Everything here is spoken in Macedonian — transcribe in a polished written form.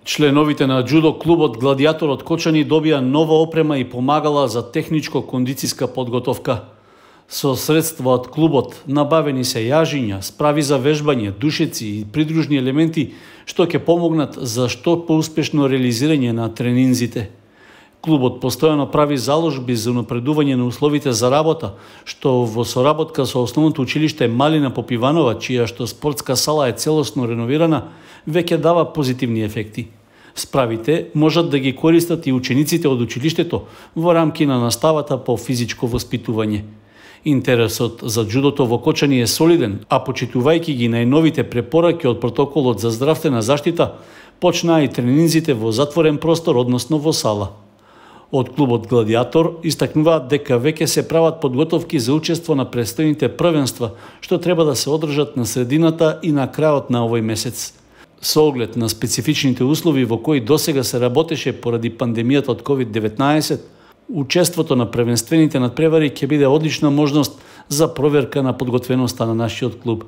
Членовите на џудо клубот Гладијатор од Кочани добија нова опрема и помагала за техничко-кондициска подготовка. Со средства од клубот набавени се јажиња, справи за вежбање, душеци и придружни елементи што ќе помогнат за што поуспешно реализирање на тренинзите. Клубот постојано прави заложби за унапредување на условите за работа, што во соработка со Основното училиште Малина Попиванова, чија што спортска сала е целосно реновирана, веќе дава позитивни ефекти. Справите можат да ги користат и учениците од училиштето во рамки на наставата по физичко воспитување. Интересот за џудото во Кочани е солиден, а почитувајќи ги најновите препораки од протоколот за здравствена заштита, почнаа и тренинзите во затворен простор, односно во сала. Од клубот Гладијатор истакнуваат дека веќе се прават подготовки за учество на престојните првенства, што треба да се одржат на средината и на крајот на овој месец. Со оглед на специфичните услови во кои досега се работеше поради пандемијата од COVID-19, учеството на првенствените надпревари ќе биде одлична можност за проверка на подготвеноста на нашиот клуб.